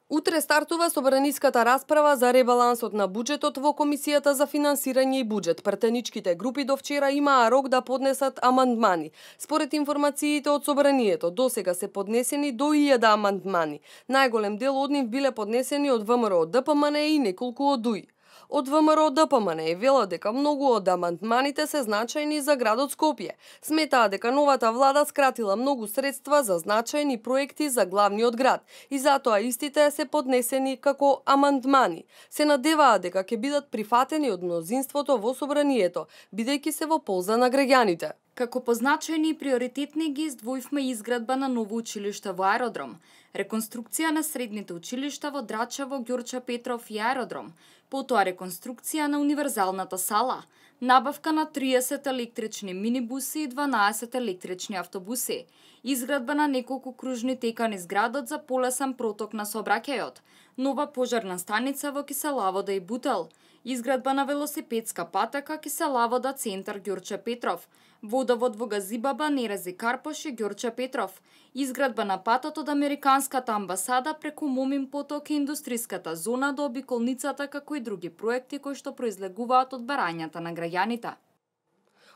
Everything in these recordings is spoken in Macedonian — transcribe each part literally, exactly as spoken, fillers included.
Утре стартува собраниската расправа за ребалансот на буџетот во Комисијата за финансирање и буџет. Претеничките групи до вчера имаа рок да поднесат амандмани. Според информациите од собранието, досега се поднесени до илјада амандмани. Најголем дел од нив биле поднесени од ВМРО Д П М Н и неколку од УИ. Од ВМРО Д П М Н велат дека многу од амандманите се значајни за градот Скопје. Сметаа дека новата влада скратила многу средства за значајни проекти за главниот град и затоа истите се поднесени како амандмани. Се надеваа дека ќе бидат прифатени од мнозинството во собранието, бидејќи се во полза на граѓаните. Како позначајни и приоритетни ги издвоивме изградба на ново училиште во аеродром, реконструкција на средните училишта во Драчево, Ѓурча Петров и аеродром, потоа реконструкција на универзалната сала, набавка на триесет електрични минибуси и дванаесет електрични автобуси, изградба на неколку кружни текани низ градот за полесен проток на сообраќајот, нова пожарна станица во Киселавода и Бутел, изградба на велосипедска патека Киселавода центар Ѓурче Петров, водовод во Газибаба, Нерези Карпош и Ѓурче Петров, изградба на патот од Американската амбасада преку Момин поток и индустриската зона до обиколницата, како и други проекти кои што произлегуваат од барањата на граѓаните.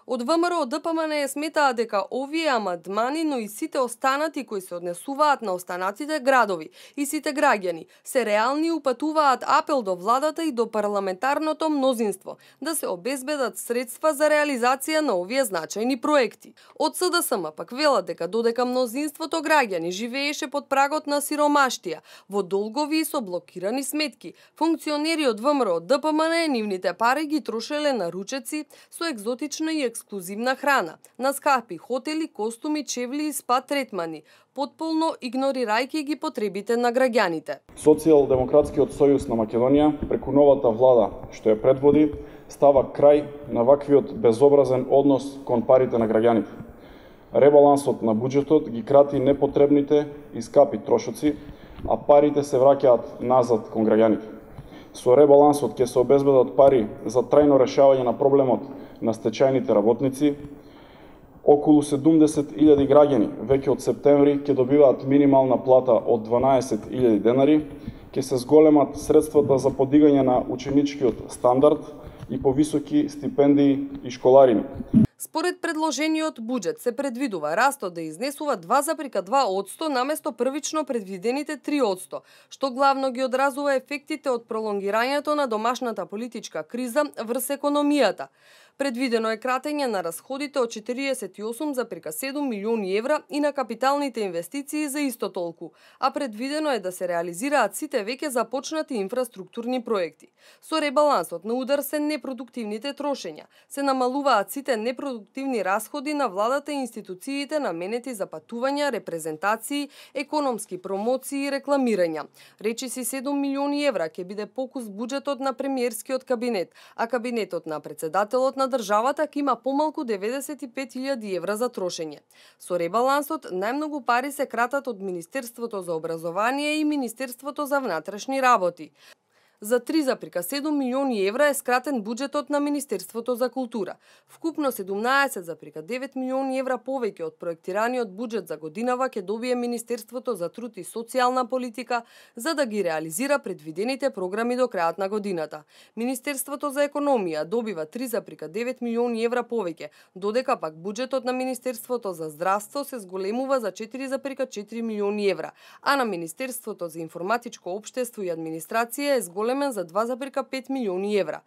Од ВМРО Д П М Н сметаа дека овие амандмани, но и сите останати кои се однесуваат на останатите градови и сите граѓани, се реални и упатуваат апел до владата и до парламентарното мнозинство да се обезбедат средства за реализација на овие значајни проекти. Од С Д С М пак велат дека додека мнозинството граѓани живееше под прагот на сиромаштија, во долгови и со блокирани сметки, функционери од ВМРО Д П М Н нивните пари ги трошеле на ручеци со екзотична и ексклузивна храна, на скапи хотели, костуми, чевли и спа третмани, потполно игнорирајќи ги потребите на граѓаните. Социјалдемократскиот сојуз на Македонија, преку новата влада што ја предводи, става крај на ваквиот безобразен однос кон парите на граѓаните. Ребалансот на буџетот ги крати непотребните и скапи трошоци, а парите се враќаат назад кон граѓаните. Со ребалансот ќе се обезбедат пари за трајно решавање на проблемот на стечајните работници. Околу седумдесет илјади граѓани веќе од септември ќе добиваат минимална плата од дванаесет илјади денари, ќе се зголемат средствата за подигање на ученичкиот стандард и повисоки стипендии и школарини. Според предложениот буџет се предвидува растот да изнесува два запирка два одсто наместо првично предвидените три одсто, што главно ги одразува ефектите од пролонгирањето на домашната политичка криза врз економијата. Предвидено е кратење на расходите од четириесет и осум запирка седум милиони евра и на капиталните инвестиции за исто толку, а предвидено е да се реализираат сите веќе започнати инфраструктурни проекти. Со ребалансот на удар се непродуктивните трошења, се намалуваат сите непродуктивни расходи на владата и институциите наменети за патувања, репрезентации, економски промоции и рекламирања. Речиси седум милиони евра ќе биде покус буџетот на премиерскиот кабинет, а кабинетот на председателот на државата ќе има помалку деветдесет и пет илјади евра за трошење. Со ребалансот најмногу пари се кратат од Министерството за образование и Министерството за внатрешни работи. За три запирка седум милиони евра е скратен буџетот на Министерството за култура. Вкупно седумнаесет запирка девет милиони евра повеќе од проектираниот буџет за годинава ќе добие Министерството за труд и социјална политика за да ги реализира предвидените програми до крајот на годината. Министерството за економија добива три запирка девет милиони евра повеќе, додека пак буџетот на Министерството за здравство се зголемува за четири запирка четири милиони евра, а на Министерството за информатичко општество и администрација е зголем за два запирка пет милиони евра.